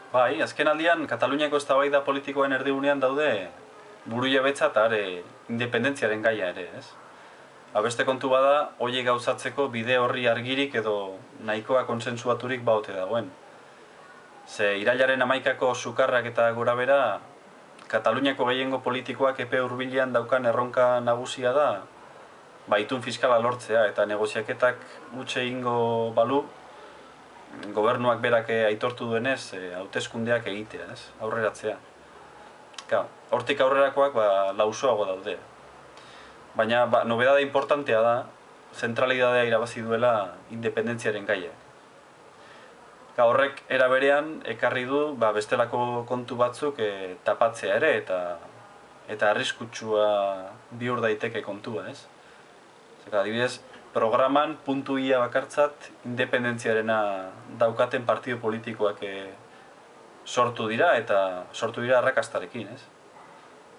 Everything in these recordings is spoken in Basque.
Bai, azken aldian Kataluniako eztabaida politikoen erdigunean daude burujabetza eta independentziaren gaia ere, ez? Beste kontu bada, horiek gauzatzeko bide horri argirik edo nahikoa konsensuaturik baute dagoen. Ze irailaren 11ko sukarrak eta gorabera, Kataluniako gehiengo politikoak epe hurbilean daukan erronka nagusia da, itun fiskala lortzea eta negoziaketak utxe egingo balu, gobernuak berak aitortu duenez, hauteskundeak egitea, ez? Aurreratzea. Hortik aurrerakoak lausoago daude. Baina nobedade importantea da, zentralidadea irabazi duela independentziaren gaia. Horrek era berean ekarri du bestelako kontu batzuk tapatzea ere eta arriskutsua bihur daiteke kontua, ez? Adibidez, programan puntu ia bakartzat independentziarena daukaten partido politikoak sortu dira eta sortu dira arrakastarekin, ez?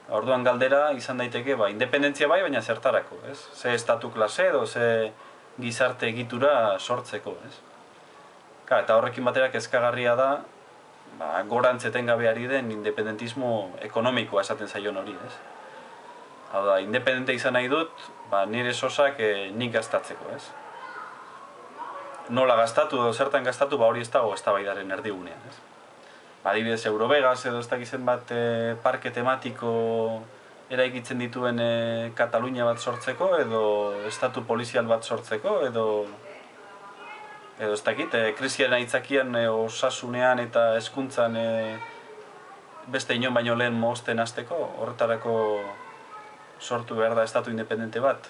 Orduan galdera izan daiteke, independentzia bai, baina zertarako, ez? Ze estatu klase edo ze gizarte egitura sortzeko, ez? Eta horrekin batera kezkagarria da, gorantz etengabeari den independentismo ekonomikoa esaten zaion hori, ez? Hau da, independente izan nahi dut, nire sosak nik gastatzeko, ez? Nola gastatu edo zertan gastatu, hori ez dago eztabaidaren erdigunean, ez? Adibidez, Eurovegas edo ez dakizen bat parke tematiko eraikitzen dituen Katalunia bat sortzeko, edo estatu polizial bat sortzeko, edo ez dakit, krisiaren aitzakian osasunean eta hezkuntzan beste inon baino lehen mozten hasteko, horretarako sortu behar da estatu independente bat.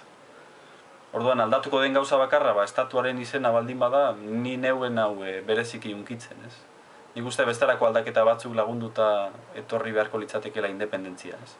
Orduan aldatuko den gauza bakarra, estatuaren izena baldin bada, ni neuen hau bereziki unkitzen, ez? Nik uste bestelako aldaketa batzuk lagunduta etorri beharko litzatekeela independentzia, ez?